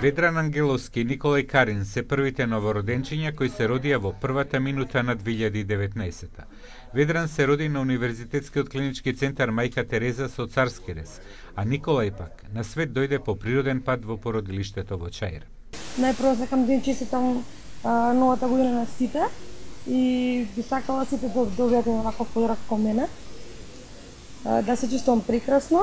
Ведран Ангеловски и Николај Карин се првите новороденчиња кои се родија во првата минута на 2019. Ведран се роди на Универзитетскиот клинички центар Мајка Тереза со царски рез, а Николај пак на свет дојде по природен пат во породилиштето во Чаир. Најпрво сакам да им честитам новата година на сите и би сакала сите да добијате ваков подарок како мене. Да се чувствувам прекрасно.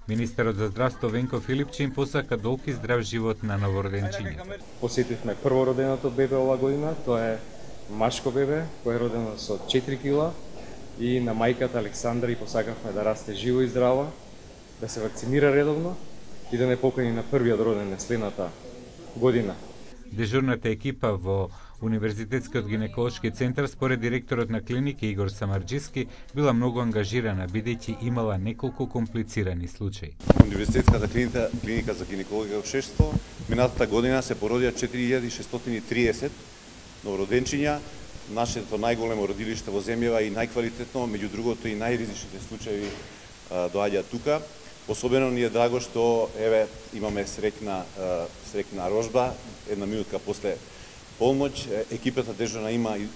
Министерот за здравство Венко Филипчин посака долг и здрав живот на новороденчињата. Посетивме првороденото бебе ова година, тоа е машко бебе кој е родено со 4 кила и на мајката Александра и посакавме да расте живо и здраво, да се вакцинира редовно и да не покани на првиот роден следната година. Дежурната екипа во Универзитетскиот гинеколошки центар според директорот на клиника Игор Самарџиски била многу ангажирана бидејќи имала неколку комплицирани случаи. Универзитетската клиника за гинекологија и општество минатата година се породија 4630 новороденчиња, нашето најголемо родилиште во земјава и најквалитетно, меѓу другото и најризичните случаи доаѓаат тука. Особено ни е драго што имаме среќна рожба, една минутка после полноќ. Екипата дежурна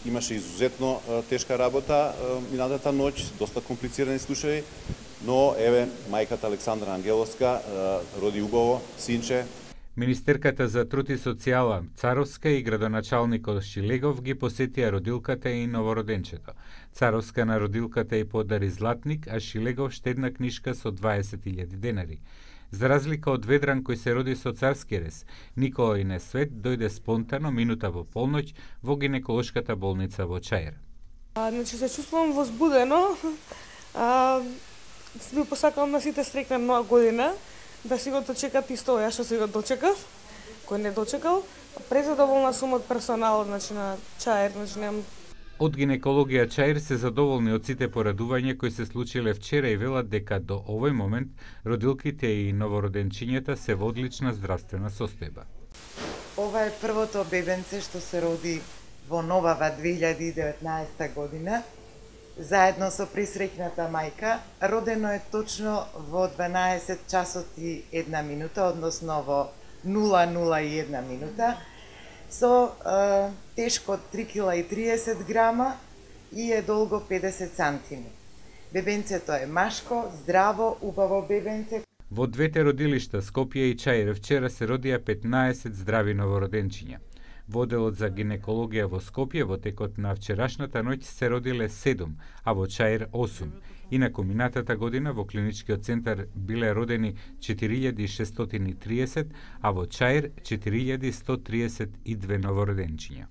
имаше изузетно тешка работа минатата ноќ, доста комплицирани случаи, но мајката Александра Ангеловска роди убаво синче. Министерката за труд и социјала Царовска и градоначалникот Шилегов ги посетија родилката и новороденчето. Царовска на родилката и подари златник, а Шилегов штедна книшка со 20.000 денари. За разлика од Ведран кој се роди со царски рез, Николај на свет дојде спонтано минута во полноќ во гинеколошката болница во Чаир. Значи се чувствувам возбудено. Ви посакувам на сите среќна нова година, да си го дочекат исто ја што си го дочекав, кој не дочекал. Презадоволна сум од персоналот, значи на Чаир, значи немам. Од гинекологија Чаир се задоволни од сите порадувања кои се случиле вчера и велат дека до овој момент родилките и новороденчињата се во одлична здравствена состојба. Ова е првото бебенце што се роди во новава 2019 година, заедно со присреќната мајка. Родено е точно во 12 часот и 1 минута, односно во 0:01 минута, со тешко 3,30 кг и е долго 50 сантими. Бебенцето е машко, здраво, убаво бебенце. Во двете родилишта, Скопје и Чаир, вчера се родија 15 здрави новороденчиња. Во одделот за гинекологија во Скопје во текот на вчерашната ноќ се родиле 7, а во Чаир 8. Инаку минатата година во клиничкиот центар биле родени 4630, а во Чаир 4132 новороденчиња.